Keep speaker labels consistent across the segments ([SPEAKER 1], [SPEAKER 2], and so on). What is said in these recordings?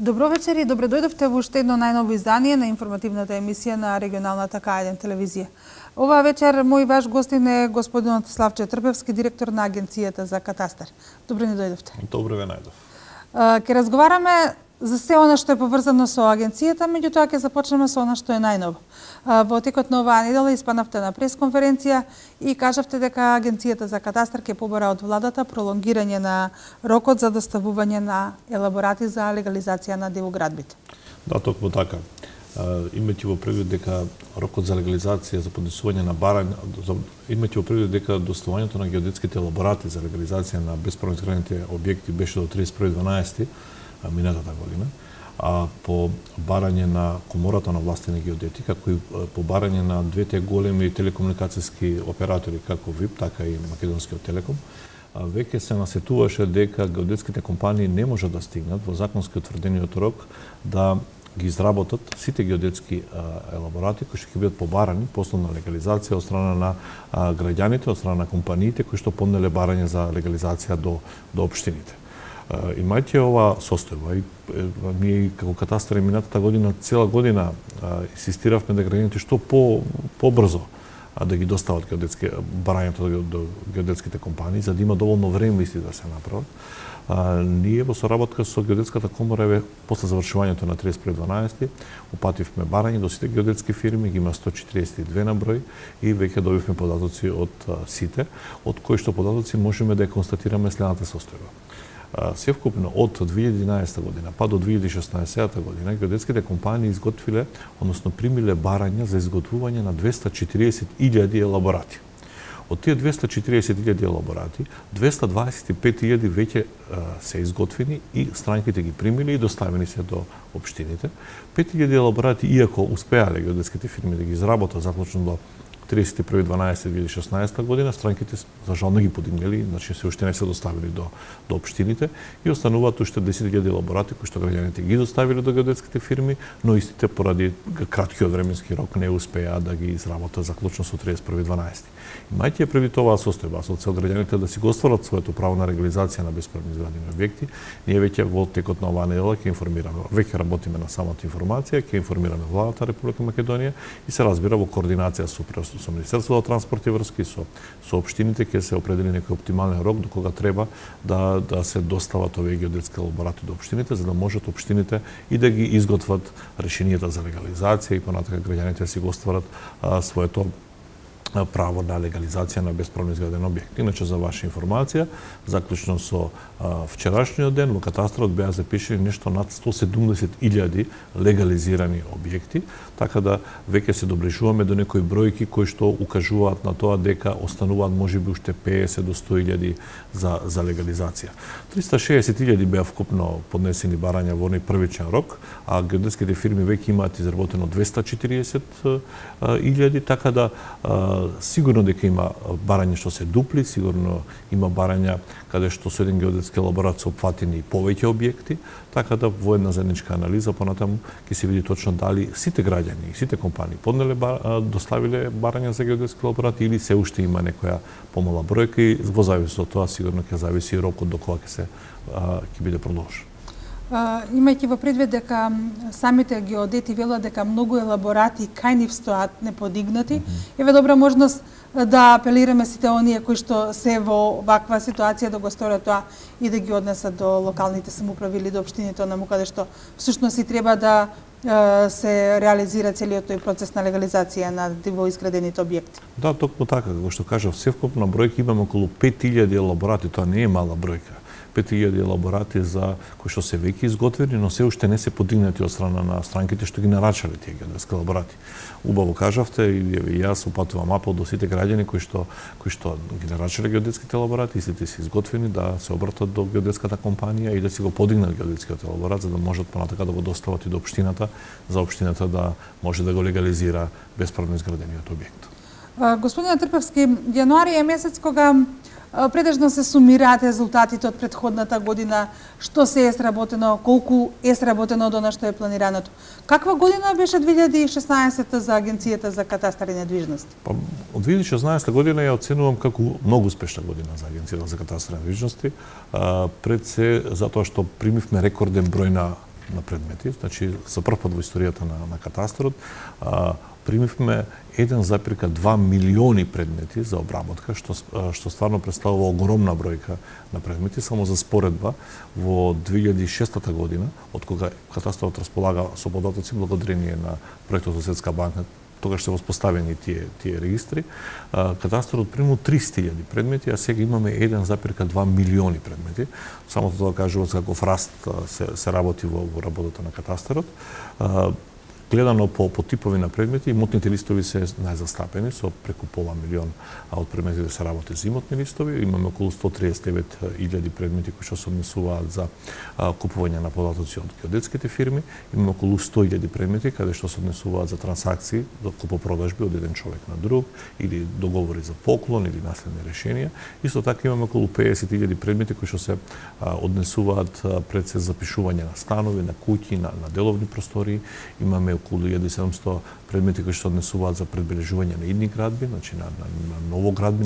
[SPEAKER 1] Добро вечер и добре дојдовте во уште едно најново издание на информативната емисија на регионалната К1 телевизија. Оваа вечер мој ваш гостин е господинот Славче Трпевски, директор на Агенцијата за катастар. Добре ни дојдовте.
[SPEAKER 2] Добре ве најдов.
[SPEAKER 1] Ќе разговараме за се она што е поврзано со агенцијата, меѓутоа ќе започнеме со она што е најново. Во текот на оваа недела испаднавте на пресконференција и кажавте дека Агенцијата за катастар ќе побара од владата пролонгирање на рокот за доставување на елаборати за легализација на дивоградбите.
[SPEAKER 2] Да, токму така. Имајќи во предвид дека рокот за легализација за поднесување на барање, имајќи во предвид дека доставувањето на геодетските елаборати за легализација на бесправно изградените објекти беше до 31.12. Минатата година, а по барање на Комората на власти на геодети, како и по барање на двете големи телекомуникацијски оператори, како ВИП, така и Македонскиот телеком, веќе се насетуваше дека геодетските компании не можат да стигнат во законски утврдениот рок да ги изработат сите геодетски елаборати кои ќе бидат побарани после на легализација од страна на граѓаните, од страна на компаниите кои што поднеле барање за легализација до општините. Имајќи ова состојба, ние како катастар минатата година, цела година инсистиравме да граѓаните што побрзо да ги достават барањето до геодетските компании, за да има доволно време исти да се направат. Ние во соработка со Геодетската комора после завршувањето на 31.12. упативме барање до сите геодетски фирми, ги има 142 на број и веќе добивме податоци од сите, од кои што податоци можеме да ја констатираме следната состојба. Севкупно од 2011 година па до 2016 година геодетските компании изготвиле, односно примиле барања за изготвување на 240.000 елаборати. Од тие 240.000 елаборати, 225.000 веќе се изготвени и странките ги примили и доставени се до општините. 5.000 елаборати, иако успеале геодетските фирми да ги изработат заклучно до 31.12.2016 година, странките за жал не ги подигнали, значи се уште не се доставили до општините и остануваат уште 10.000 елаборати кои што граѓаните ги доставиле до геодетските фирми, но истите поради краткиот временски рок не успеа да ги изработат заклучно со 31.12. Имајќи предвид оваа состојба, со цел граѓаните да си го остварат своето право на легализација на бесправно изградени објекти, ние веќе во текот на оваа недела ќе информираме, веќе работиме на самата информација, ќе информираме владата Република Македонија и се разбира во координација со Министерството за транспорт и врски, со општините ќе се определи некој оптимален рок до кога треба да се достават овие геодетски елаборати до општините, за да можат општините и да ги изготват решенијата за легализација и понатака граѓаните си го остварат своето право на легализација на бесправно изграден објект. Иначе, за ваша информација, заклучно со вчерашниот ден, во катастарот беа запишени нешто над 170.000 легализирани објекти, така да веќе се доближуваме до некои бројки кои што укажуваат на тоа дека остануваат можеби уште 50 до 100.000 за легализација. 360.000 беа вкупно поднесени барања во оној првичен рок, а геодетските фирми веќе имаат изработено 240.000, така да сигурно дека има барања што се дупли, сигурно има барања каде што со еден геодетски елаборат се опфатени и повеќе објекти, така да во една заедничка анализа понатаму ќе се види точно дали сите граѓани и сите компании поднеле доставиле барања за геодетски елаборати или се уште има некоја помала бројка и во зависност од тоа сигурно ќе зависи рокот до кога ќе биде продолжен.
[SPEAKER 1] Имајќи во предвид дека самите геодети велат дека многу елаборати кај нив стоат неподигнати, еве добра можност да апелираме сите оние кои што се во ваква ситуација да го сторат тоа и да ги однесат до локалните самоуправи или до општините онаму каде што всушност и треба да се реализира целиот тој процес на легализација на дивоизградените објекти.
[SPEAKER 2] Да, токму така, како што кажав, севкупна бројка имаме околу 5.000 елаборати, тоа не е мала бројка. 5.000 елаборати за кои што се веќе изготвени, но се уште не се подигнати од страна на странките што ги нарачале тие геодетски елаборати. Убаво кажавте и јас упатувам апел до сите граѓани кои што ги нарачале геодетските елаборати, истите се изготвени да се обратат до геодетската компанија и да си го подигнат геодетскиот елаборат за да можат понатака да го достават и до општината, за општината да може да го легализира бесправно изградениот објект.
[SPEAKER 1] Господине Трпевски, јануари е месец кога предежно се сумираат резултатите од претходната година, што се е сработено, колку е сработено од она што е планираното. Каква година беше 2016 за Агенцијата за катастар и недвижности?
[SPEAKER 2] Од 2016 година ја оценувам како многу успешна година за Агенцијата за катастар и недвижности, пред се затоа што примивме рекорден број на на предмети. Значи, за прв пат во историјата на катастарот примивме 1,2 милиони предмети за обработка, што стварно представува огромна бројка на предмети. Само за споредба, во 2006 година, од кога катастарот располага со податоци благодарение на проектот од Светска банка, тогаш се воспоставени тие регистри, катастарот примил 300.000 предмети, а сега имаме 1,2 милиони предмети. Само тоа кажува каков раст се работи во работата на катастарот. Гледано по типови на предмети, имотните листови се најзастапени, со преку пола милион од предметите се работи за имотни листови. Имаме околу 139.000 предмети кои што се однесуваат за купување на податоци од геодетските фирми. Имаме околу 100.000 предмети каде што се однесуваат за трансакции, до купопродажби од еден човек на друг, или договори за поклон или наследни решенија. Исто така имаме околу 50.000 предмети кои што се однесуваат пред се запишување на станови, на куќи, на деловни простории. Имаме околу 1700 предмети кои што однесуваат за предбележување на идни градби, значи на новоградби,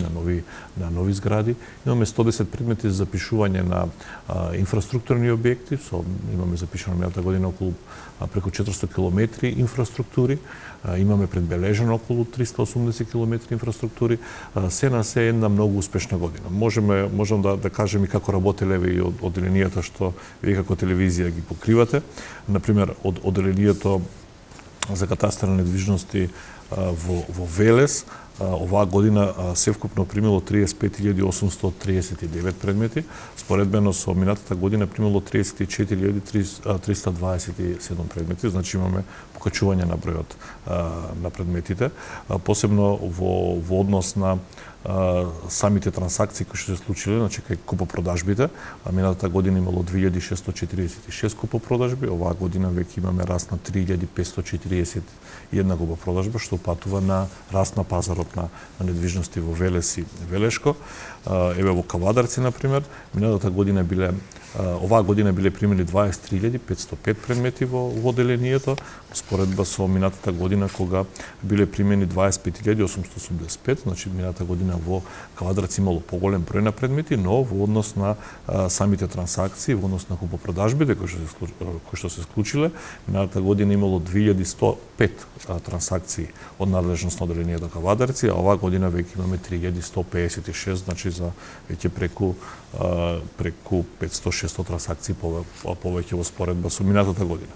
[SPEAKER 2] на нови згради. Имаме 110 предмети за запишување на инфраструктурни објекти, имаме запишано минатата година околу преку 400 километри инфраструктури, имаме предбележено околу 380 километри инфраструктури. Се на се една многу успешна година. Можам да кажем и како работеле и од одделенијата што вие како телевизија ги покривате. Например, од одделението за катастар на недвижности во Велес, оваа година севкупно примило 35.839 предмети, споредбено со минатата година примило 34.327 предмети, значи имаме покачување на бројот на предметите, посебно во однос на самите трансакции кои што се случиле, значи кај купопродажбите. Минатата година имало 2646 купопродажби, оваа година веќе имаме раст на 3541 купопродажба, што упатува на раст на пазарот на недвижности во Велес и Велешко. Еве во Кавадарци, например, минатата година оваа година биле примени 23.505 предмети во одделението, споредба со минатата година кога биле примени 25.885, значи минатата година во Кавадарци имало поголем број на предмети, но во однос на самите трансакции, во однос на купопродажбите кои што се склучиле, минатата година имало 2105 трансакции од надлежност на одделението Кавадарци, а оваа година веќе имаме 3156, значи за веќе преку 500-600 трансакции повеќе во споредба со минатата година.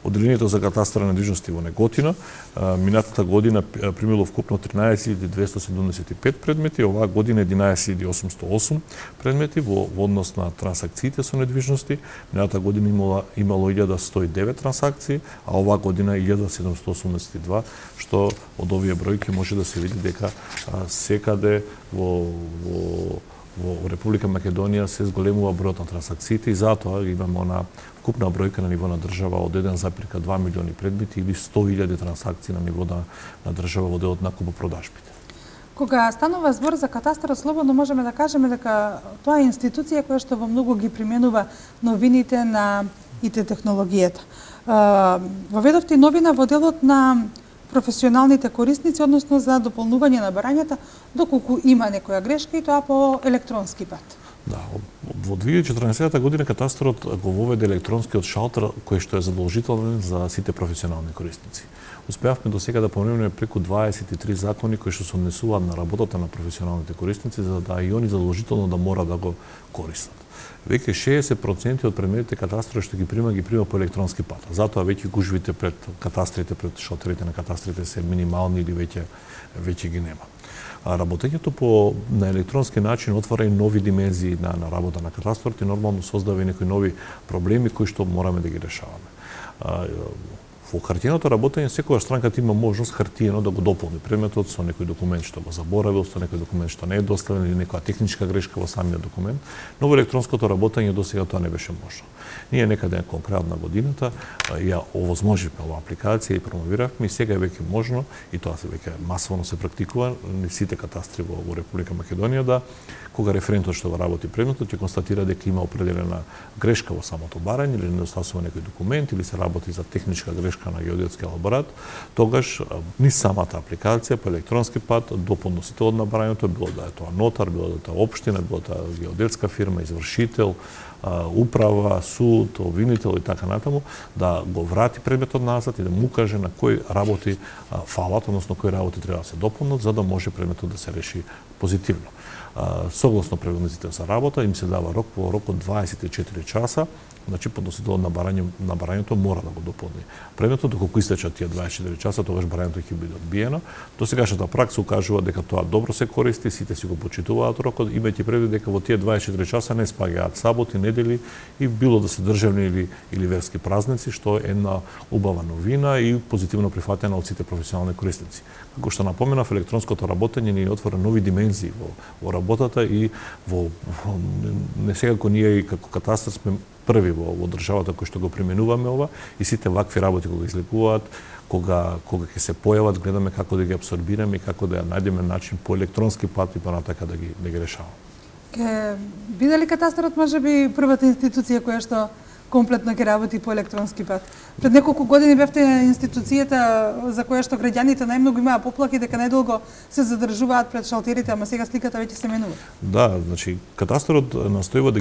[SPEAKER 2] Одделението за катастар на недвижности во Неготино минатата година примило вкупно 13.275 предмети, оваа година 11.808 предмети во однос на трансакциите со недвижности. Минатата година имало 1.109 трансакции, а оваа година 1.782, што од овие бројки може да се види дека секаде во Република Македонија се зголемува бројот на трансакциите и затоа имаме она вкупна бројка на ниво на држава од 1,2 милиони предмети или 100.000 трансакции на ниво на држава во делот на купопродажбите.
[SPEAKER 1] Кога станува збор за катастарот, слободно можеме да кажеме дека тоа е институција која што во многу ги применува новините на ИТ технологијата. Воведовте новина во делот на професионалните корисници, односно за дополнување на барањата, доколку има некоја грешка и тоа по електронски пат.
[SPEAKER 2] Да, во 2014 година катастарот го воведе електронскиот шалтер кој што е задолжителен за сите професионални корисници. Успеавме до сега да поминеме преку 23 закони кои што се однесуваат на работата на професионалните корисници, за да и они задолжително да мора да го користат. Веќе 60% од предметите катастарот што ги прима по електронски пат. Затоа веќе гужвите пред катастрите, пред шалтерите на катастрите се минимални или веќе ги нема. Работењето на електронски начин отвара и нови димензии на работа на катастарот и нормално создава и некои нови проблеми кои што мораме да ги решаваме. Во хартиеното работење секогаш странката има можност хартиено да го дополни предметот со некој документ што го заборавил, со некој документ што не е доставен или некоја техничка грешка во самиот документ, но во електронското работење досега тоа не беше можно. Ние некаде кон крајот на годината ја овозможивме оваа апликација и промовиравме и сега е веќе можно и тоа се веќе масовно се практикува на сите катастри во Република Македонија да кога референтот што го работи предметот ќе констатира дека има определена грешка во самото барање или недостасува некој документ или се работи за техничка грешка поддршка на геодетски елаборат, тогаш ни самата апликација по електронски пат до подносителот на барањето, било да е тоа нотар, било да е тоа општина, било да е геодетска фирма, извршител, управа, суд, обвинител и така натаму, да го врати предметот назад и да му каже на кои работи фалат, односно кои работи треба да се дополнат, за да може предметот да се реши позитивно. Согласно правилниците за работа, им се дава рок по рок од 24 часа, значи подносителот на барањето мора да го дополни предметот, доколку истечат тие 24 часа, тогаш барањето ќе биде одбиено. До сегашната пракса укажува дека тоа добро се користи, сите си го почитуваат рокот, имајќи предвид дека во тие 24 часа не спагаат саботи, недели и било да се државни или верски празници, што е една убава новина и позитивно прифатена од сите професионални корисници. Како што напоменав, електронското работење ни отвора нови димензии во работата и не секако ние како катастар сме први во државата кои што го применуваме ова и сите вакви работи кога излекуваат, кога ќе се појават, гледаме како да ги абсорбираме и како да ја најдеме начин по електронски пат и понатака да ги решаваме.
[SPEAKER 1] Ке биде ли катастарот можеби првата институција која што комплетно ќе работи по електронски пат? Пред неколку години бевте институцијата за која што граѓаните најмногу имаа поплаки дека најдолго се задржуваат пред шалтерите, ама сега сликата веќе се менува.
[SPEAKER 2] Да, значи катастарот настојува да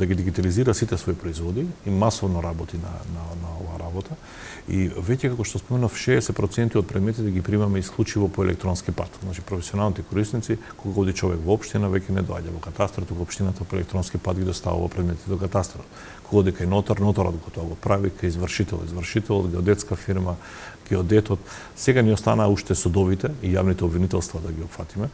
[SPEAKER 2] ги дигитализира сите своји производи и масовно работи на оваа работа. И веќе како што споменав, 60% од предметите ги примаме исклучиво по електронски пат. Значи професионалните корисници, кога оди човек во општина, веќе не доаѓа во катастарот, туку општината по електронски пат ги доставува предметите до катастарот. Кога оди кај нотарот го тоа го прави, кај извршителот, геодетска фирма, геодетот. Сега ни останаа уште судовите и јавните обвинителства да ги опфатиме.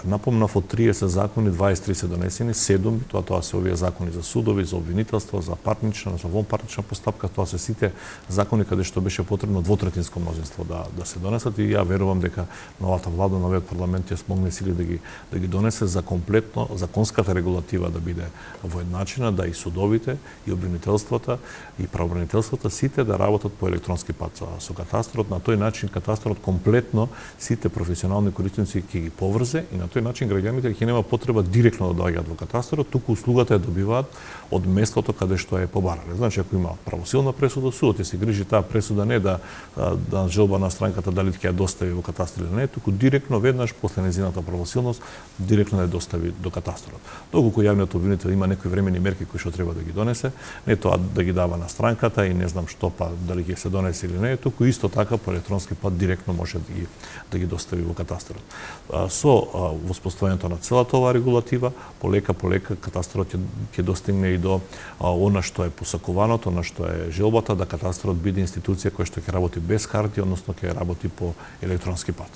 [SPEAKER 2] Напомнав, од 30 закони 23 се донесени, 7 тоа се овие закони за судови, за обвинителство, за парнична, за вонпарнична постапка, тоа се сите закони каде што беше потребно двотретинско мнозинство да се донесат и ја верувам дека новата влада, новиот парламент ќе смогне сили да ги донесе за комплетно законската регулатива да биде воедначена, да и судовите, и обвинителствата, и правобранителствата сите да работат по електронски пат со катастарот. На тој начин катастарот комплетно сите професионални корисници ќе ги поврзе и на тој начин граѓаните ќе нема потреба директно да доаѓаат во катастарот, туку услугата ја добиваат од местото каде што е побарале. Значи, ако има правосилна пресуда, судот ќе се грижи таа пресуда не да желба на странката дали ќе ја достави во катастар или не, туку директно веднаш после нејзината правосилност директно ја достави до катастарот. Доколку јавниот обвинител има некои времени мерки кои што треба да ги донесе, не тоа да ги дава на странката и не знам што па дали ќе се донесе или не, туку исто така по електронски пат директно може да ги достави во катастарот. Со воспоставувањето на целата оваа регулатива, полека катастарот ќе достигне и до она што е посакуваното, она што е желбата да катастарот биде институција која што ќе работи без карти, односно ќе работи по електронски пат.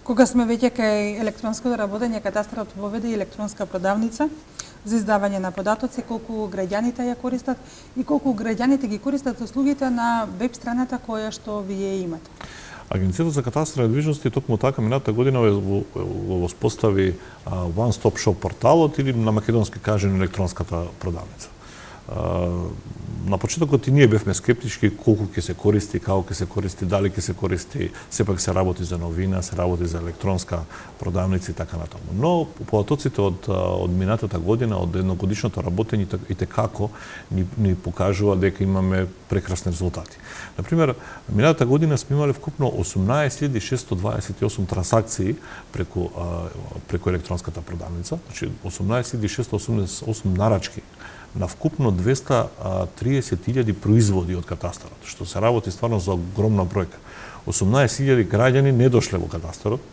[SPEAKER 1] Кога сме веќе кај електронското работење, катастарот воведе и електронска продавница за издавање на податоци, колку граѓаните ја користат и колку граѓаните ги користат услугите на веб страната која што вие имате.
[SPEAKER 2] Агенцијата за катастар и недвижности токму така минатата година го воспостави One Stop Shop порталот или на македонски кажен електронската продавница. На почетокот и ние бевме скептички колку ќе се користи, како ќе се користи, дали ќе се користи, сепак се работи за новина, се работи за електронска продавница и така натаму. Но податоците од минатата година, од едногодишното работење и како ни покажува дека имаме прекрасни резултати. Например, минатата година сме имале вкупно 18.628 трансакции преку електронската продавница, значи 18.688 нарачки на вкупно 230.000 производи од катастарот, што се работи стварно за огромна бројка. 18.000 граѓани не дошле во катастарот,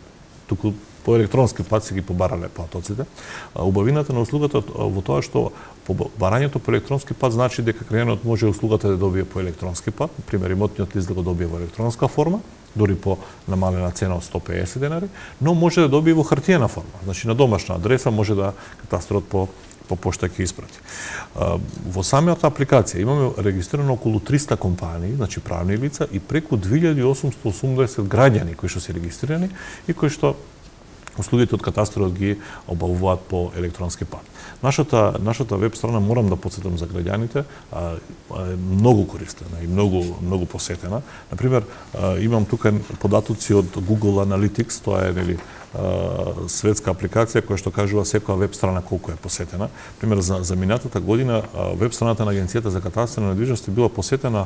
[SPEAKER 2] туку по електронски пат се ги побарале платоците. Убавината на услугата во тоа што барањето по електронски пат значи дека граѓанот може услугата да добие по електронски пат, например имотниот лист да го добие во електронска форма, дури по намалена цена од 150 денари, но може да добие во хартиена форма. Значи на домашна адреса може да катастарот по пошта ќе испрати. Во самата апликација имаме регистрирано околу 300 компании, значи правни лица и преку 2880 граѓани кои што се регистрирани и кои што услугите од катастарот ги обавуваат по електронски пат. Нашата веб страна, морам да потсетам за граѓаните, е многу користена и многу посетена. Например, имам тука податоци од Google Analytics, тоа е светска апликација која што кажува секоја веб страна колку е посетена. Пример, за минатата година веб страната на Агенцијата за катастар и недвижности била посетена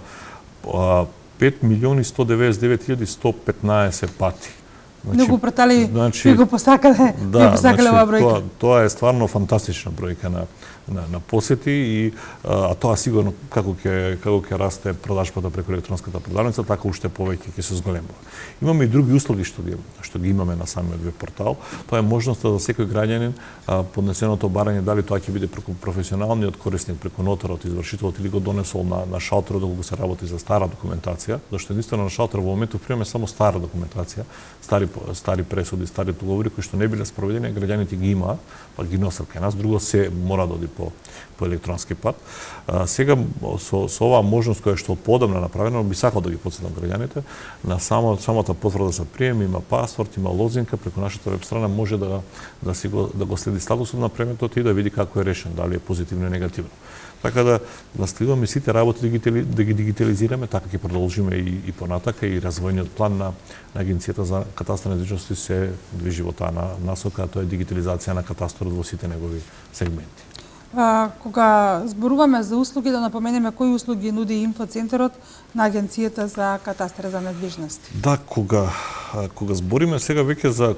[SPEAKER 2] 5.199.115 пати.
[SPEAKER 1] Многу пратали, ви го посакале, ви посакале оваа бројка.
[SPEAKER 2] Тоа е стварно фантастична бројка на посети и тоа сигурно како ќе расте продажбата преку електронската продавница, така уште повеќе ќе се зголемува. Имаме и други услуги што ги имаме на самиот веб портал. Тоа е можноста за секој граѓанин поднесеното барање, дали тоа ќе биде преку професионалниот корисник, преку нотарот, извршителот или го донесол на шалтерот доколку се работи за стара документација, зашто единствено на шалтер во моментот примаме само стара документација, стари пресуди, стари договори кои што не биле спроведени, граѓаните ги имаат, па ги носат кај нас, друго се мора да оди по електронски пат. Сега со оваа можност која што подамна направена, би сакал да ги потсетам граѓаните на самата потврда за прием, има паспорт, има лозинка, преку нашата веб страна може да го следи статусот на премиот и да види како е решен, дали е позитивно или негативно. Така да наставуваме сите работи да ги дигитализираме, така ќе продолжиме и понатака и развојниот план на Агенцијата за катастар недвижности се движи во таа насока, тоа е дигитализација на катастарот во сите негови сегменти.
[SPEAKER 1] Кога зборуваме за услуги, да напоменеме кои услуги нуди инфоцентарот на Агенцијата за катастар за недвижности.
[SPEAKER 2] Да, кога збориме сега веќе за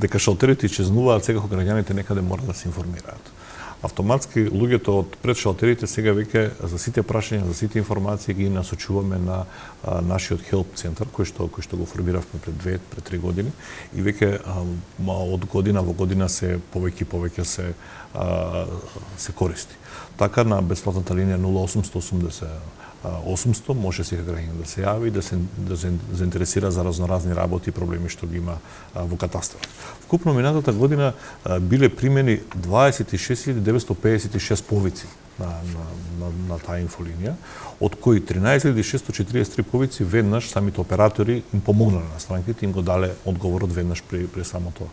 [SPEAKER 2] дека шалтерите исчезнуваат, сега граѓаните некаде мора да се информираат. Автоматски луѓето од пред шалтерите сега веќе за сите прашања, за сите информации ги насочуваме на нашиот хелп центар кој што го формиравме пред 3 години и веќе од година во година се повеќе се користи. Така на бесплатната линија 0880 800 може секој граѓанин да се јави и да се заинтересира за разноразни работи и проблеми што ги има во катастарот. Вкупно минатата година биле примени 26.956 повици на таа инфолинија, од кои 13.643 повици веднаш самите оператори им помогнале на странките, им го дале одговорот веднаш при самото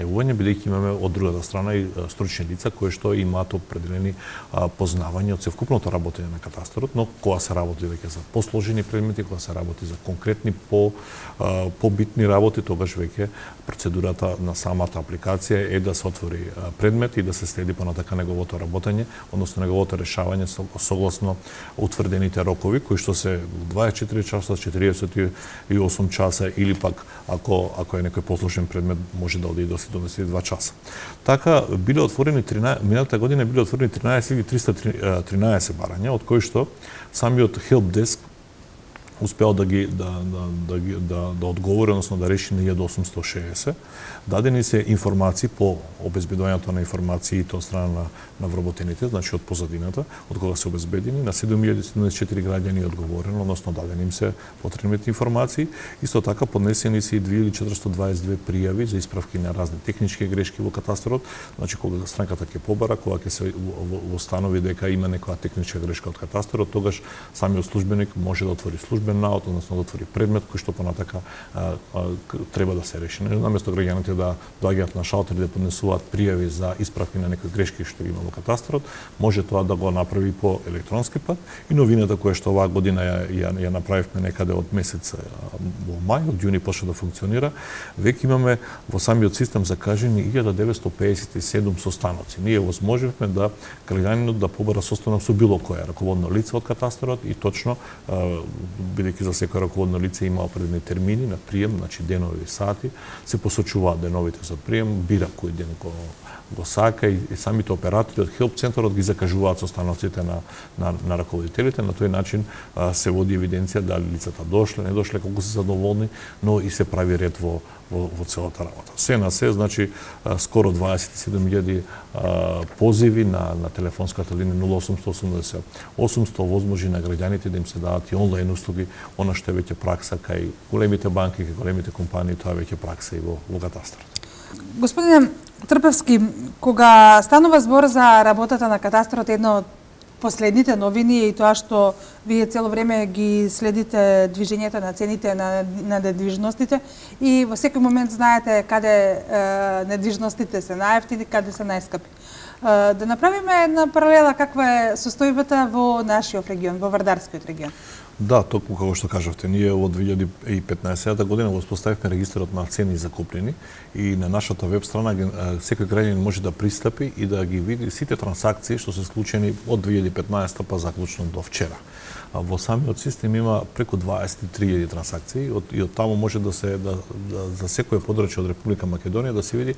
[SPEAKER 2] јавување, бидејќи имаме од другата страна и стручни лица кои што имаат определени познавања од севкупното работење на катастарот, но кога се работи веќе за посложени предмети, кога се работи за конкретни побитни работи, тогаш веќе процедурата на самата апликација е да се отвори предмет и да се следи понатака неговото работење, односно неговото решавање согласно утврдените рокови, кои што се 24 часа, 48 часа или пак ако е некој посложен предмет може да оди до 72 часа. Така биле отворени минатата година биле отворени 13.313 барања, од кои што самиот Help Desk успеал да одговори, односно да реши на 1860. Дадени се информации по обезбедувањето на информациите од страна на вработените, значи од позадината, од кога се обезбедени, на 7.074 граѓани одговорено, односно дадени им се потребните информации. Исто така поднесени се и 2.422 пријави за исправки на разни технички грешки во катастарот, значи кога странката ќе побара, кога ќе се установи дека има некоја техничка грешка од катастарот, тогаш самиот службеник може да отвори службен наод, односно да отвори предмет кој што понатака треба да се реши. Наместо граѓаните да доаѓаат на шалтер да поднесуваат пријави за исправки на некои грешки што има во катастарот, може тоа да го направи по електронски пат. И новината која што оваа година ја направивме некаде од месец во мај, од јуни почна да функционира, веќе имаме во самиот систем закажени 1957 состаноци. Ние возможивме да граѓанинот да побара состанок со било кое раководно лице од катастарот и точно бидејќи за секој раководно лице има определени термини на прием, значи денови и сати, се посочуваат деновите за прием, бира кој ден го сака и самите оператори од Help центарот ги закажуваат состаноците на раководителите. На тој начин се води евиденција дали лицата дошле, не дошле, колку се задоволни, но и се прави ред во целата работа. Се на се, значи, скоро 27.000 позиви на телефонската линија 0880 800 возможи на граѓаните да им се дадат и онлайн услуги, она што е веќе пракса кај големите банки, кај големите компании, тоа е веќе пракса и во катастарот.
[SPEAKER 1] Господине Трпевски, кога станува збор за работата на катастарот, едно од последните новини е и тоа што вие цело време ги следите движењето на цените на недвижностите и во секој момент знаете каде недвижностите се најевтини, каде се најскапи. Да направиме една паралела каква е состојбата во нашиот регион, во Вардарскиот регион.
[SPEAKER 2] Да, токму како што кажавте, ние во 2015 година го воспоставивме регистарот на цени за купнини и на нашата веб страна секој граѓанин може да пристапи и да ги види сите трансакции што се случени од 2015 па заклучно до вчера. во самиот систем има преку 23.000 трансакции и од таму може да се за секое подрачје од Република Македонија да се види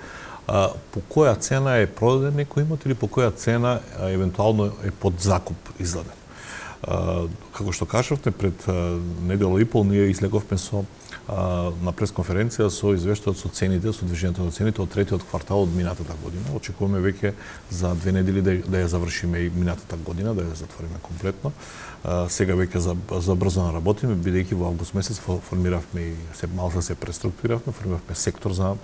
[SPEAKER 2] по која цена е продаден некој имот или по која цена евентуално е под закуп издаден. Како што кажавте, пред недела и пол ние излеговме на пресконференција со извештајот со цените, со движењето на цените од третиот квартал од минатата година. Очекуваме веќе за 2 недели да ја завршиме и минатата година, да ја затвориме комплетно. Сега веќе за брзо наработиме, бидејќи во август месец формиравме и малку се преструктуриравме, формиравме сектор за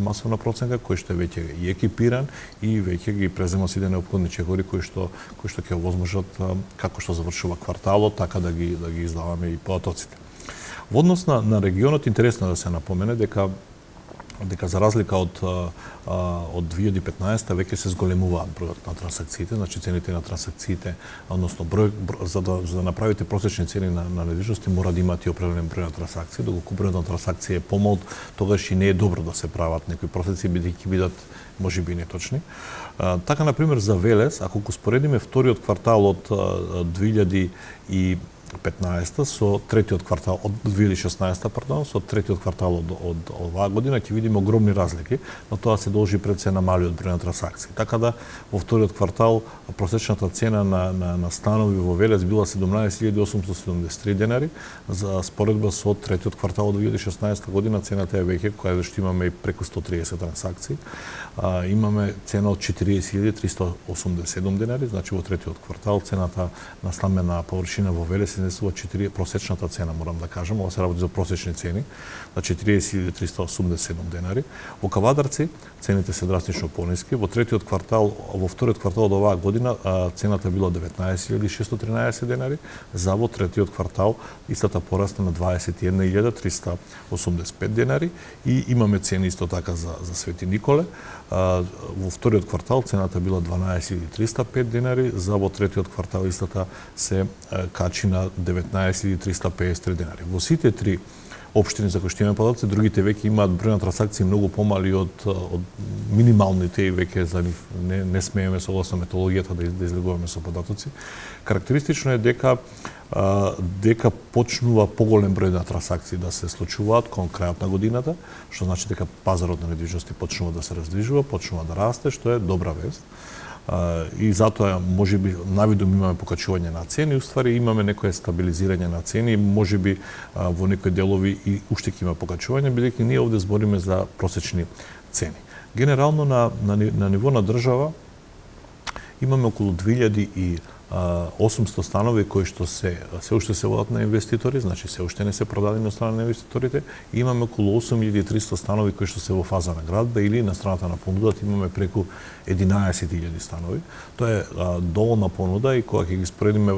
[SPEAKER 2] масовна проценка кој што е веќе и екипиран и веќе ги презема сите неопходни чекори кои што ќе овозможат како што завршува кварталот, така да ги издаваме и потоците. Во однос на регионот интересно да се напомене дека за разлика од 2015 веќе се зголемуваат бројот на трансакциите, значи цените на трансакциите, односно за да направите просечни цени на недвижности мора да имате определен број на трансакции, доколку бројот на трансакции е помал, тогаш и не е добро да се прават некои просеци бидејќи бидат можеби неточни. Така на пример за Велес, ако го споредиме вториот квартал од 2015 со третиот квартал од 2016, пардон, со третиот квартал од оваа година ќе видиме огромни разлики, но тоа се должи пред се на малиот број на трансакции. Така да во вториот квартал просечната цена на станови во Велес била 17.873 денари, за споредба со третиот квартал од 2016 година цената е веќе, која што имаме и преку 130 трансакции. Имаме цена од 40.387 денари, значи во третиот квартал цената на стамбена површина во Велес изнесува просечната цена, морам да кажам, ова се работи за просечни цени, на 40.387 денари. Во Кавадарци цените се драстично пониски. Во вториот квартал од оваа година цената била 19.613 денари, за во третиот квартал истата порасна на 21.385 денари и имаме цени исто така за Свети Николе. Во вториот квартал цената била 12.305 денари, за во третиот квартал истата се качи на 19.353 денари. Во сите три општини за кои што имаме податоци, другите веќе имаат број на трансакции многу помали од минималните и веќе за нив не смееме согласно методологијата да излегуваме со податоци. Карактеристично е дека почнува поголем број на трансакции да се случуваат кон крајот на годината, што значи дека пазарот на недвижности почнува да се раздвижува, почнува да расте, што е добра вест. И затоа можеби навидум имаме покачување на цени, уствари имаме некое стабилизирање на цени, можеби во некои делови и уште ќе има покачување, бидејќи ние овде збориме за просечни цени. Генерално на ниво на држава имаме околу 2800 станови кои што се уште се водат на инвеститори, значи се уште не се продадени на страна на инвеститорите, и имаме околу 8300 станови кои што се во фаза на градба или на страната на понудата имаме преку 11.000 станови. Тоа е доволна понуда и кога ќе ги споредиме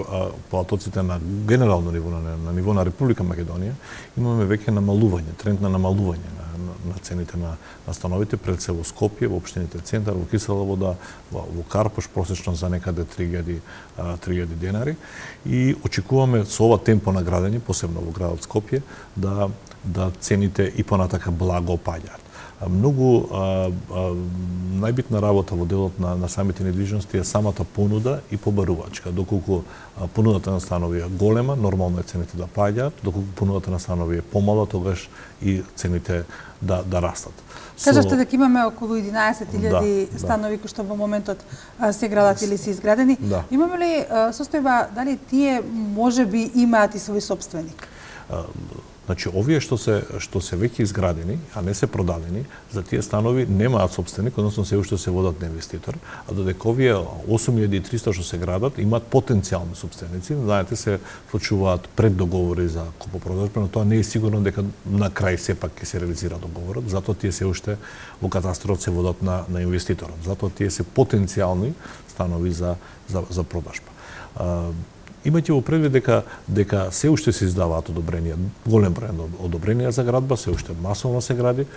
[SPEAKER 2] платоците на генерално ниво, на ниво на Република Македонија, имаме веќе намалување, тренд на намалување на цените на становите, пред се во Скопје, во општините Центар, во Кисела Вода, во Карпош, просечно за некаде 3.000 денари. И очекуваме со ова темпо на градење, посебно во градот Скопје, да цените и понатака благо паѓаат. Многу најбитна работа во делот на самите недвижности е самата понуда и побарувачка. Доколку понудата на станови е голема, нормално е цените да паѓаат, доколку понудата на станови е помала, тогаш и цените да растат.
[SPEAKER 1] Кажавте дека имаме околу 11.000 станови кои што во моментот се градат или се изградени. Имаме ли состојба дали тие можеби имаат и свој сопственик?
[SPEAKER 2] Значи, овие што се веќе изградени, а не се продадени, за тие станови немаат собственик, односно се уште се водат на инвеститор, а додека овие 8300 што се градат имаат потенцијални собственици, знаете, се случуваат преддоговори за купопродажба, но тоа не е сигурно дека на крај сепак ќе се реализира договорот, затоа тие се уште во катастрот се водат на инвеститорот. Затоа тие се потенцијални станови за продажба. Имајте во предвид дека се уште се издаваат одобренија, голем број одобренија за градба, се уште масовно се гради.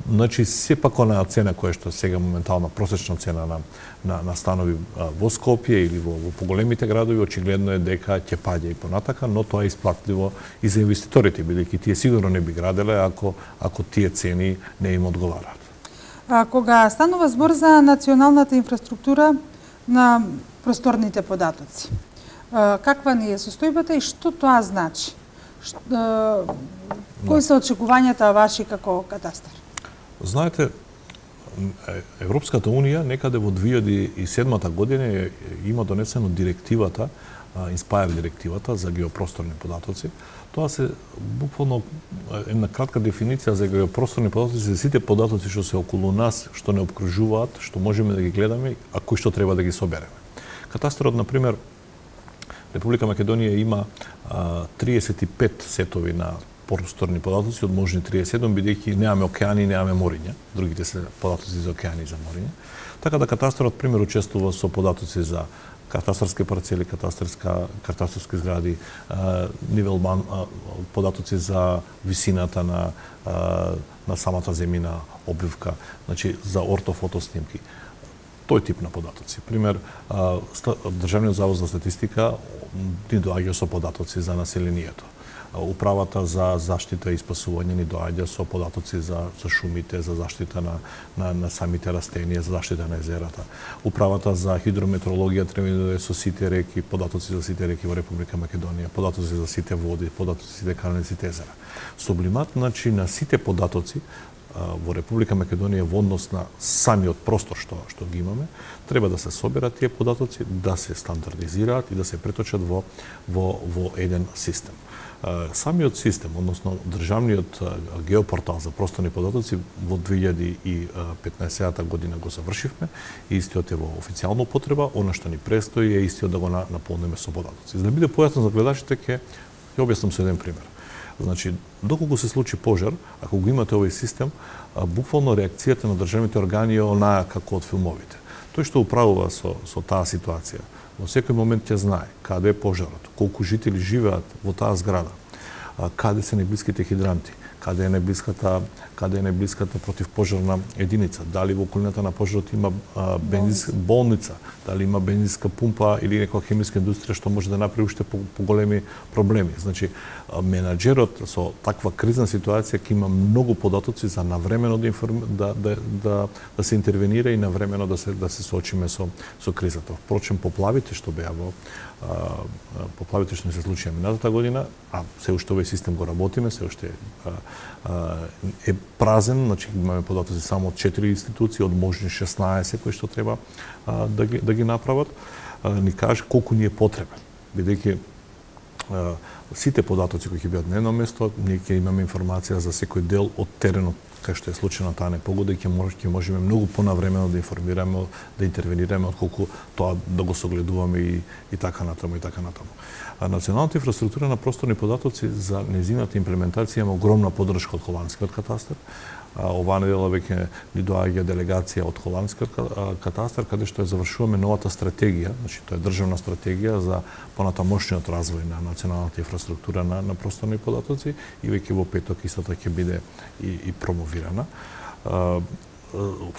[SPEAKER 2] Значи, сепак онаа цена која што сега моментална просечна цена на станови во Скопје или во поголемите градови, очигледно е дека ќе паѓа и понатака, но тоа е исплатливо и за инвеститорите, бидејќи тие сигурно не би граделе ако тие цени не им одговараат.
[SPEAKER 1] Кога станува збор за националната инфраструктура на просторните податоци, каква ни е состојбата и што тоа значи? Кои се очекувањата ваши како катастар?
[SPEAKER 2] Знаете, Европската Унија некаде во 2007 година има донесено директивата, Inspire директивата за геопросторни податоци. Тоа се буквално една кратка дефиниција за геопросторни податоци за сите податоци што се околу нас, што не обкружуваат, што можеме да ги гледаме, а кои што треба да ги собереме. Катастарот, например, Република Македонија има 35 сетови на просторни податоци, од можни 37, бидејќи немаме океани, немаме мориња. Другите се податоци за океани и за мориња. Така да катастарот, пример, учествува со податоци за катастарски парцели, катастарски згради, податоци за висината на самата земјина обвивка, значи за ортофото снимки. Тој тип на податоци. Пример, Државниот завод за статистика ни доаѓа со податоци за населението. Управата за заштита и спасување ни доаѓа со податоци за шумите, за заштита на самите растенија, за заштита на езерата. Управата за хидрометеорологија треба да доаѓа со сите реки, податоци за сите реки во Република Македонија, податоци за сите води, податоци за сите канали, сите езера. Сублимат, значи, на сите податоци во Република Македонија во однос на самиот простор што ги имаме, треба да се соберат тие податоци, да се стандардизираат и да се преточат во еден систем. Самиот систем, односно државниот геопортал за просторни податоци во 2015 година го завршивме и истиот е во официјална употреба. Она што ни престои е истиот да го наполниме со податоци. За да биде појасно за гледачите, ќе објаснам со еден пример. Значи, доколку се случи пожар, ако го имате овој систем, буквално реакцијата на државните органи е онаа како од филмовите. Тој што управува со таа ситуација, во секој момент ќе знае каде е пожарот, колку жители живеат во таа зграда, каде се најблиските хидранти, каде е најблиската противпожарна единица, дали во околината на пожарот има бензинска болница, дали има бензинска пумпа или некоја хемиска индустрија што може да направи уште поголеми проблеми. Значи, менаџерот со таква кризна ситуација ќе има многу податоци за навремено да се интервенира и навремено да се соочиме со кризата. Впрочем, поплавите што беа поплавите што не се случија минатата година, а се уште овој систем го работиме, се уште е празен, значи имаме податоци само од 4 институции, од можни 16 кои што треба да ги направат, ни каже колку ни е потребен. Бидејќи сите податоци кои ќе бидат на едно место, ние ќе имаме информација за секој дел од теренот кај што е случена таа непогода и ќе можеме многу понавремено да информираме, да интервенираме отколку тоа да го согледуваме и така натаму и така натаму. Националната инфраструктура на просторни податоци за незината имплементација има огромна поддршка од холандскиот катастар. Оваа недела веќе ни доаѓа делегација од холандскиот катастар, каде што завршуваме новата стратегија, значи тоа е државна стратегија за понатамошниот развој на националната инфраструктура на просторни податоци и веќе во петок истата ќе биде и промовирана.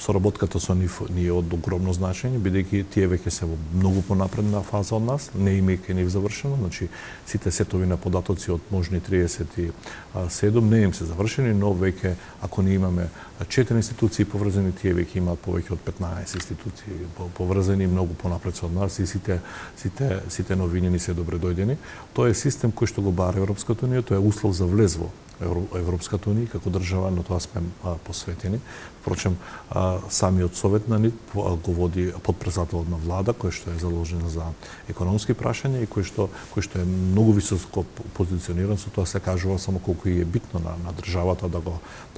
[SPEAKER 2] Соработката со нив ни е од огромно значење, бидејќи тие веќе се во многу понапредна фаза од нас, не имајќи нив завршено, значи сите сетови на податоци од можни 37 не им се завршени, но веќе ако ние имаме 4 институции поврзани, тие веќе имаат повеќе од 15 институции поврзани, многу понапред од нас и сите новини ни се добре дојдени. Тоа е систем кој што го бара Европската унија, тоа е услов за влез во Европската унија како држава, но тоа сме посветени. Впрочем, самиот совет на НИД го води подпредседателот на влада, кој што е заложен за економски прашања и кој што е многу високо позициониран, со тоа се кажува само колку е битно на државата да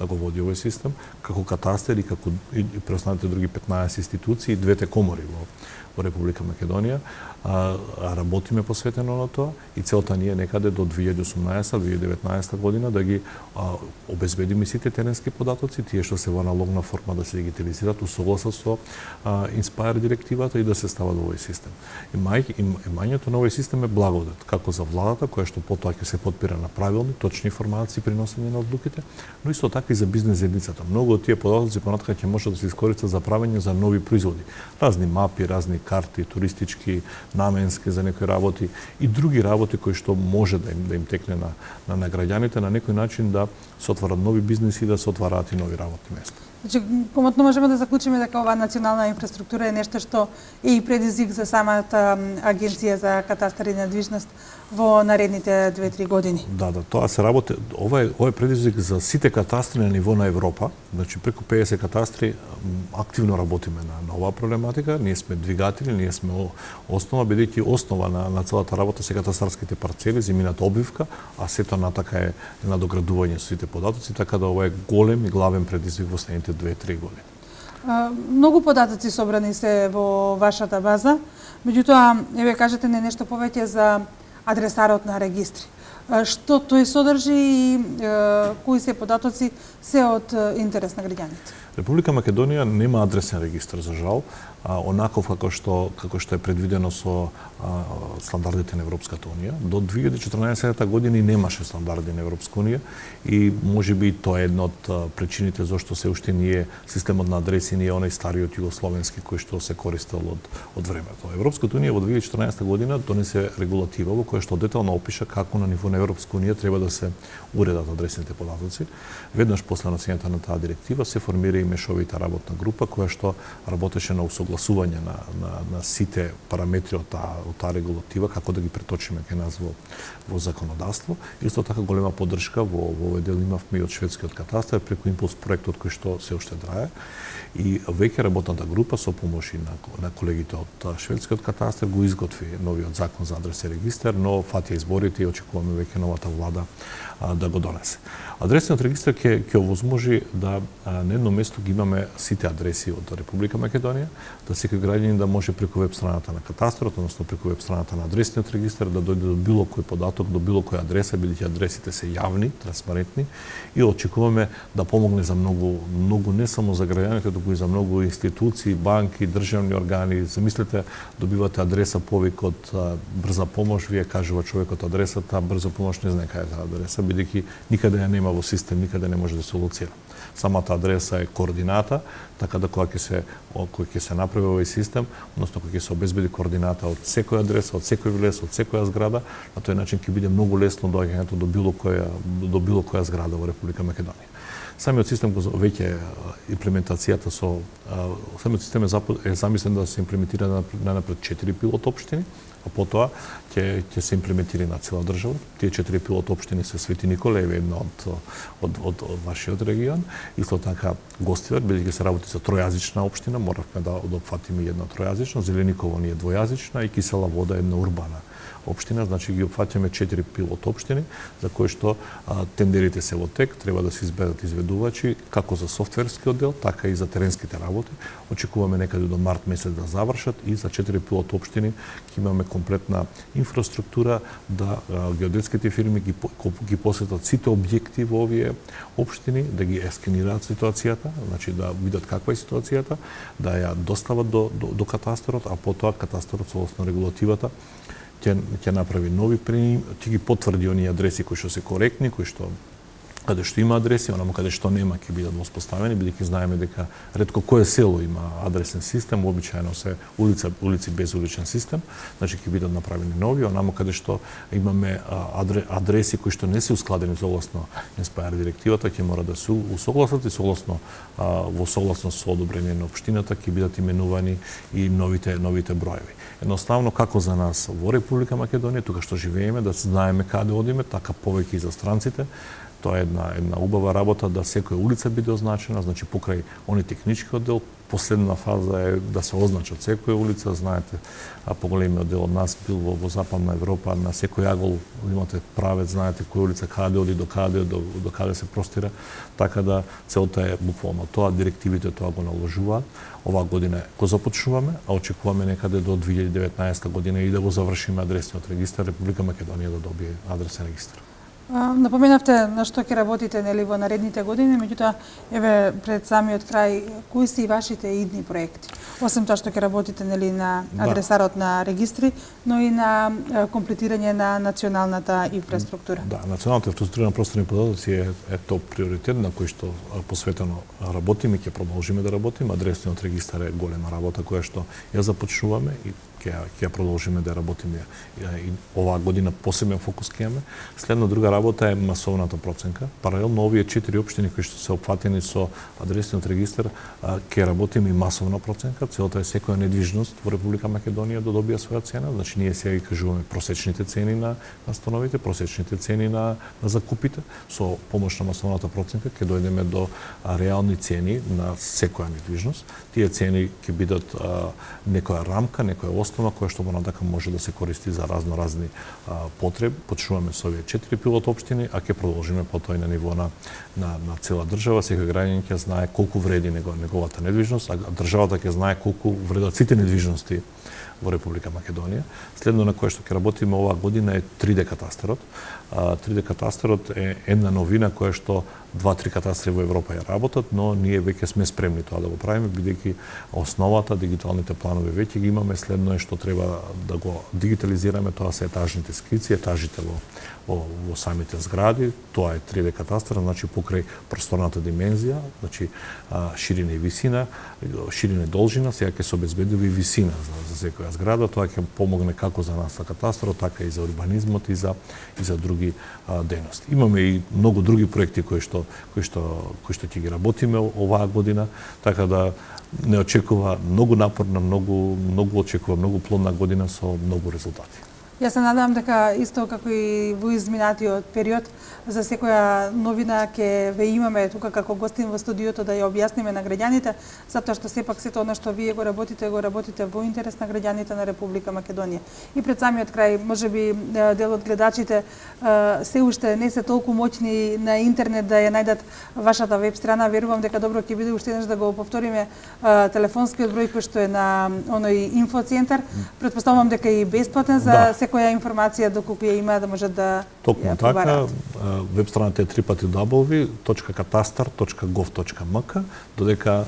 [SPEAKER 2] го води овој систем, како катастар и како и преостанатите други 15 институции и двете комори во Република Македонија. Работиме посветено на тоа и целта ни е некаде до 2018-2019 година да ги обезбедиме сите теренски податоци, тие што се во аналогна форма да се дигитализираат усогласно со Inspire директивата и да се стават во овој систем. Имањето на овој систем е благодат, како за владата, која што потоа ќе се подпира на правилни, точни информации при носење на одлуките, но исто така и за бизнес заедницата. Многу од тие податоци понатака ќе можат да се искористат за правење за нови производи. Разни мапи, разни карти, туристички, наменски за некои работи и други работи кои што може да им текне на граѓаните на некој начин да се отварат нови бизнеси и да се отвараат и нови работни места.
[SPEAKER 1] Значи, комотно можеме да заклучиме дека оваа национална инфраструктура е нешто што е и предизвик за самата агенција за катастар и недвижност во наредните 2-3 години.
[SPEAKER 2] Да, тоа се работи. Ова е предизвик за сите катастри на ниво на Европа. Значи, преку 50 катастри активно работиме на оваа проблематика. Ние сме двигатели, ние сме основа, бидејќи основа на целата работа се катастарските парцели, земјината обвивка, а сето натака е надоградување со сите податоци, така да ова е голем и главен предизвик во следните 2-3 години.
[SPEAKER 1] Многу податоци собрани се во вашата база, меѓутоа, еве кажете не нешто повеќе за адресарот на регистри. Што тој содржи и кои се податоци се од интерес на граѓаните?
[SPEAKER 2] Република Македонија нема адресен регистар, за жал, онаков како што е предвидено со стандардите на Европската унија. До 2014 година немаше стандарди на Европска унија и можеби тоа е една од причините зашто се уште ние системот на адреси не е онај стариот југословенски кој што се користел од времето. Европската унија во 2014 година донесе регулатива во која што детално опиша како на ниво на Европска унија треба да се уредат адресните податоци. Веднаш после носењето на таа директива се формира и мешовита работна група која што работеше на усогласување на сите параметри од таа регулатива, како да ги преточиме кај нас во законодавство. Исто така голема поддршка во овој дел имавме и од шведскиот катастар преку импулс проектот кој што се уште трае. И веќе работната група со помош на колегите од шведскиот катастар го изготви новиот закон за адрес и регистар, но фати изборите и очекуваме веќе новата влада да го донесе. Адресниот регистар ќе овозможи да на едно место ги имаме сите адреси од Република Македонија, да секој граѓанин да може преку веб страната на катастарот, односно преку веб страната на адресниот регистар да дојде до било кој податок, до било која адреса, бидејќи адресите се јавни, транспарентни и очекуваме да помогне за многу не само за граѓаните, туку и за многу институции, банки, државни органи. Замислете, добивате адреса повик од брза помош, вие кажува човекот адресата, брза помош не знае кај е таа адреса, бидејќи никаде ја нема во систем, никаде не може да се лоцира. Самата адреса е координата, така да кога ќе се направи овој систем, односно кога ќе се обезбеди координата од секоја адреса, од секој влез, од секоја зграда, на тој начин ќе биде многу лесно доаѓањето до било која зграда во Република Македонија. Самиот систем веќе имплементацијата самиот систем е замислен да се имплементира на 4 пилот општини, а потоа ќе се имплементира на цела држава. Тие 4 пилот општини се Свети Никола, една од вашиот регион, исто така Гостивар, бидејќи се работи за тројазична општина, моравме да опфатиме една тројазична, Зелениково ни е двојазична и Кисела Вода една урбана општина, значи ги опфаќаме 4 пилот општини за кои што тендерите се во тек, треба да се изберат изведувачи како за софтверскиот дел, така и за теренските работи. Очекуваме некаде до март месец да завршат и за 4 пилот општини ќе имаме комплетна инфраструктура да геодетските фирми ги посетат сите објекти во овие општини, да ги ескенираат ситуацијата, значи да видат каква е ситуацијата, да ја достават до катастарот, а потоа катастарот согласно регулативата ќе направи нови ќе ги потврди оние адреси кои што се коректни, кои што каде што има адреси, онаму каде што нема ќе бидат воспоставени, бидејќи знаеме дека ретко кое село има адресен систем, обичаено се улици без уличен систем, значи ќе бидат направени нови, онаму каде што имаме адреси кои што не се ускладени согласно Инспајр директивата, ќе мора да се усогласат и во согласност со одобрение на општината ќе бидат именувани и новите броеви. Едноставно, како за нас во Република Македонија, тука што живееме, да знаеме каде одиме, така повеќе и за странците. Тоа е една убава работа да секоја улица биде означена, значи покрај они технички оддел, последна фаза е да се означат секоја улица, знаете, поголемиот дел од нас бил во Западна Европа, на секој агол имате правец, знаете која улица каде оди, до каде се простира, така да целта е буквално тоа, директивите тоа го наложуваат. Оваа година го започнуваме, а очекуваме некаде до 2019 година и да го завршиме адресниот регистар, Република Македонија да добие адресен регистар.
[SPEAKER 1] Напоменавте на што ќе работите во наредните години, меѓутоа еве пред самиот крај, кои се и вашите идни проекти? Освен тоа што ќе работите на адресарот на регистри, но и на комплетирање на националната инфраструктура.
[SPEAKER 2] Да, националната инфраструктура на просторни податоци е топ приоритет на кој што посветено работиме, ќе продолжиме да работиме. Адресниот регистар е голема работа која што ја започнуваме и ќе продолжиме да работиме и оваа година посебен фокус ќе имаме. Следно друга работа е масовната проценка. Паралелно овие 4 општини кои што се опфатени со адресниот регистар, ќе работиме и масовна проценка. Целта е секоја недвижност во Република Македонија да добија своја цена. Значи ние сега ги кажуваме просечните цени на становите, просечните цени на закупите. Со помош на масовната проценка ќе дојдеме до реални цени на секоја недвижност. Тие цени ќе бидат некоја рамка, некоја основа која што понатака може да се користи за разни потреби. Почнуваме со овие 4 пилот општини, а ќе продолжиме потоа и на ниво на цела држава. Секој граѓанин ќе знае колку вреди неговата недвижност, а државата ќе знае колку вредат сите недвижности во Република Македонија. Следно на кое што ќе работиме оваа година е 3D катастерот. 3D катастерот е една новина која што 2-3 катастри во Европа ја работат, но ние веќе сме спремни тоа да го правиме, бидејќи основата, дигиталните планови веќе ги имаме. Следно е што треба да го дигитализираме, тоа се етажните скици, етажите во самите згради. Тоа е 3D катастер, значи покрај просторната димензија, значи ширина и висина, ширина и должина, сега ќе се обезбедува и висина за секоја зграда. Тоа ќе помогне како за нас на катастрот, така и за урбанизмот и за други дејности. Имаме и многу други проекти кои што ќе ги работиме оваа година, така да не очекува многу напорна, многу очекува многу плодна година со многу резултати.
[SPEAKER 1] Јас се надевам дека исто како и во изминатиот период, за секоја новина ќе ве имаме тука како гостин во студиото да ја објасниме на граѓаните, затоа што сепак сето она што вие го работите во интерес на граѓаните на Република Македонија. И пред самиот крај, можеби дел од гледачите се уште не се толку моќни на интернет да ја најдат вашата веб страна. Верувам дека добро ќе биде уште еднаш да го повториме телефонскиот број кој што е на оној инфоцентар. Претпоставувам дека е и бесплатен за која информација доколку ја има да можат да
[SPEAKER 2] ја побараат. Веб страната е www.katastar.gov.mk, додека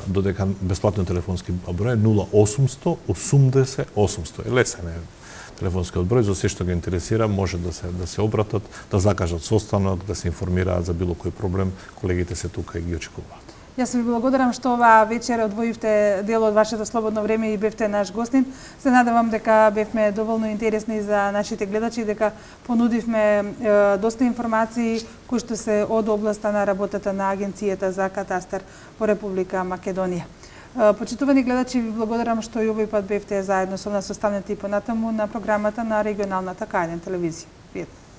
[SPEAKER 2] бесплатниот телефонски број е 0800 80 800. Лесен е телефонскиот број, за се што ги интересира може да се обратат, да закажат состанок, да се информираат за било кој проблем. Колегите се тука и ги очекуваат.
[SPEAKER 1] Јас ви благодарам што оваа вечер одвоивте дел од вашето слободно време и бевте наш гостин. Се надевам дека бевме доволно интересни за нашите гледачи, дека понудивме доста информации кои што се од областа на работата на Агенцијата за катастар во Република Македонија. Почитувани гледачи, ви благодарам што и овој пат бевте заедно со нас, останете и понатаму на програмата на регионалната К1 телевизија. Пријатно.